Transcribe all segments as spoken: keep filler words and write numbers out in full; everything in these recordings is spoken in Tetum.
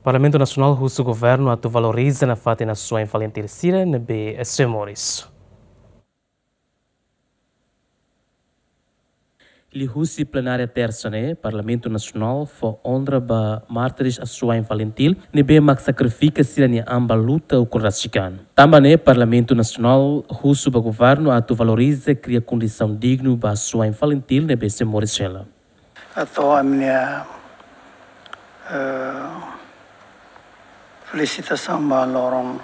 Parlamentu Nasionál husu governu atu valoriza nafatin asuwa'in FALINTIL sira ne'ebé sei moris. Liuhusi plenária Tersa ne'e, Parlamentu Nasionál fó onra ba mártires asuwa'in FALINTIL ne'ebé mak sakrifika sira-nia an ba luta ukun rasik an. Tanba ne'e, Parlamentu Nasionál husu ba governu atu valoriza, kria kondisaun dignu ba asuwa'in FALINTIL ne'ebé sei moris hela. Atu ami-nia, eh, felisitasaun ba loron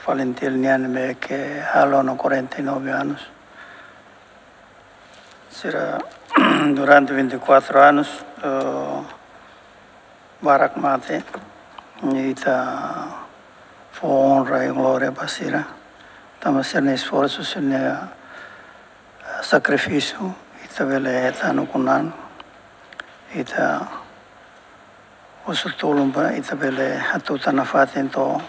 FALINTIL nian ne'ebé ke halo ona quarenta e nove anos. Sira durante vinte e quatro anos, eh, barak mate, ita fó onra i glória ba sira. Tanba sira-nia esforsu, sira-nia, eh, sakrifísiu, ita bele hetan ukun an, ita husu tulun ba ita bele hatutan nafatin to'o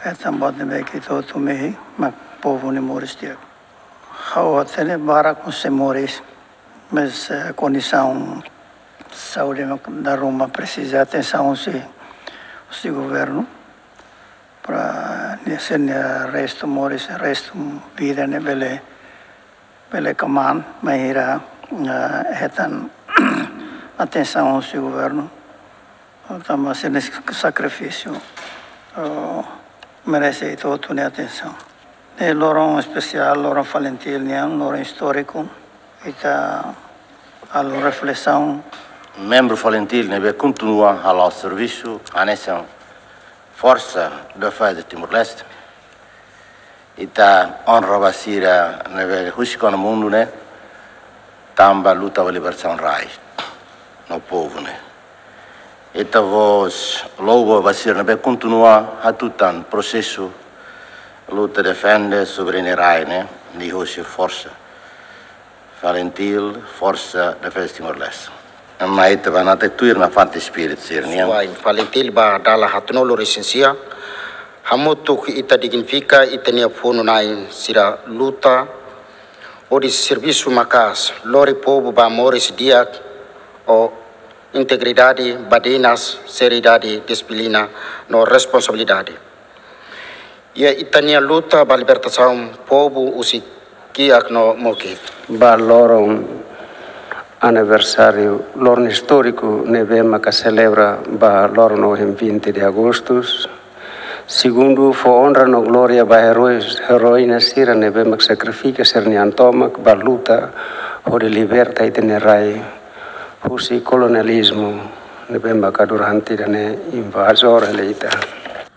hetan buat ne'ebé ke ita hotu mehi, mak povu nia moris di'ak. Ha'u hatene barak mós sei moris, mas, eh, kondisaun saúde mak dala ruma presiza atensaun husi, husi governu, para nia, sira-nia restu moris, restu vida ne'e bele, bele kmaan, bainhira, eh, hetan atensaun husi governu. Tanba sira-nia sakrifísiu, eh, merese ita hotu nia atensaun. Ne'e loron espesiál, loron FALINTIL nian, loron istóriku, ita halo reflesaun. Membru FALINTIL ne'ebé kontinua hala'o servisu hanesan Forsa Defeza Timor-Leste. Ita onra ba sira ne'ebé husik ona mundu ne'e, tanba luta ba libertasaun rai no povu ne'e. Ita-boot louva ba sira ne'ebé kontinua hatutan prosesu luta defende soberania rai ne'e, liuhusi Forsa FALINTIL, Forsa Defeza Timor-Leste. Mai ita bá nafatin tuir nafatin espíritu sira-nian. Asuwa'in FALINTIL ba dala haatnulu-resin-sia, hamutuk ita dignifika ita-nia funu-na'in sira luta hodi servisu maka'as, lori povu ba moris di'ak ho integridade, badinas, seriedade, dixiplina no responsabilidade. Iha ita-nia luta ba libertasaun povu husi kiak no mokit. Ba loron aniversáriu, loron istóriku ne'ebé maka selebra ba loron ohin, vinte de agosto. Segundu, fó onra no glória ba eróis, eróina sira ne'ebé mak sakrifika sira-nia an tomak ba luta hodi liberta ita-nia rai husi kolonializmu ne'ebé maka durante ida-ne'e invazór hela ita.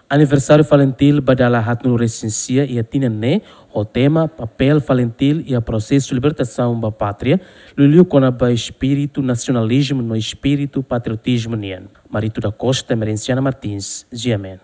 Aniversáriu FALINTIL ba dala haatnulu-resin-sia iha tinan ne'e, ho tema Papél FALINTIL iha Prosesu Libertasaun ba Pátria, liuliu kona-ba espíritu nasionalizmu no espíritu patriotizmu nian. Marito da Costa, Emerenciana Martins, G M N.